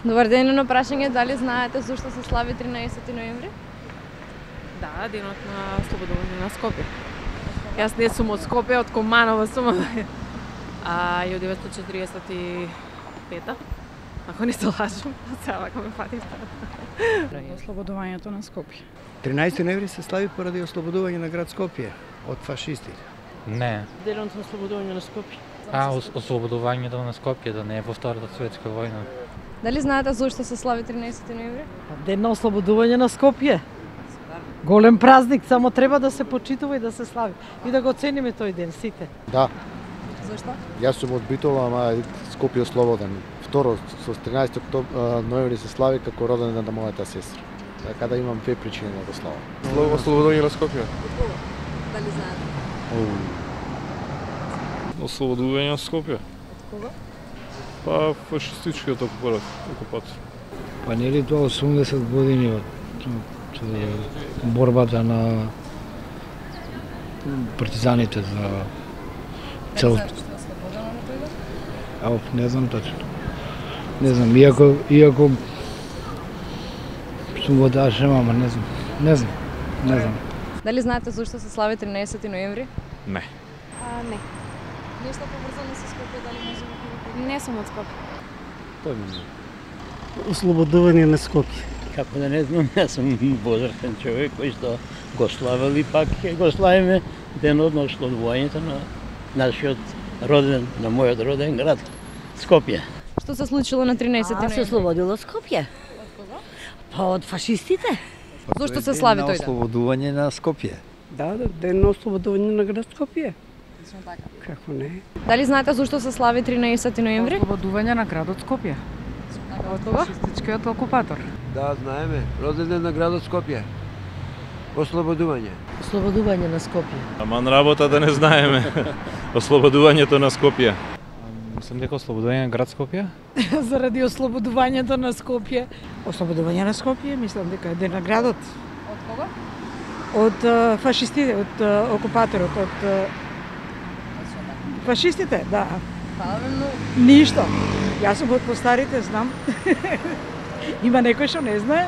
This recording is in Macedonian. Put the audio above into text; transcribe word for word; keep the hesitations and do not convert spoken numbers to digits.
Добар ден, на прашање дали знаете зошто се слави тринаесети ноември? Да, денот на ослободување на Скопје. Јас не сум од Скопје, од Команово сум. А и од деветстотини четиридесет и пета, ако не се лажам, сега вака ме фатите. Ослободувањето на Скопје. тринаесети ноември се слави поради ослободување на град Скопје од фашистите. Не. Денот на ослободување на Скопје. А, ос ослободувањето на Скопје, да не е во Втората светска војна. Дали знаете зошто се слави тринаесети ноември? Ден на ослободување на Скопје. Голем празник, само треба да се почитува и да се слави. И да го цениме тој ден, сите. Да. Зошто? Јас сум од Битола, ама Скопје е слободен. Второ, со тринаесети ноември се слави како роден ден на мојата сестра. Така да имам две причини да го славам. Ослободување на Скопје. Дали знаете? Ослободување на Скопје. Од кого? Па фашистичкиот окупатор. Па нели тоа осумдесет години од борбата на партизаните за цел. Ау, не знам точно. Не знам, иако иако сум го таа шема, ама не знам. Не знам. Не знам. Дали знаете зошто се слави тринаесети ноември? Не. А, не. Нешто поврзано со Скопје, дали може да Не сум од Скопје. Појма не. Ослободување на Скопје. Како да не знам, јас сум возрастен човек кој што го славил и пак ќе го славиме денот на ослободувањето на нашиот роден, на мојот роден град Скопје. Што се случило на тринаесети А, се ноември? ослободило Скопје. Од кого? Па од фашистите. Зошто се слави тој ден? Ослободување на Скопје. Да, да, ден на ослободување на град Скопје. Точно така. Како не? Дали знаете зошто се слави тринаесети ноември? Ослободување на градот Скопје. Од кого? Фашистичкиот окупатор. Да, знаеме. Роден ден на градот Скопје. Ослободување. Ослободување на Скопје. Аман работа да не знаеме. Ослободувањето на Скопје. Мислам дека ослободување на град Скопје? Заради ослободувањето на Скопје. Ослободување на Скопје, мислам дека е ден на градот. Од кого? Од а, фашистите, од а, окупаторот, од а, фашистите, да. Правилно. Ништо. Јас сум од постарите, знам. Има некој што не знае.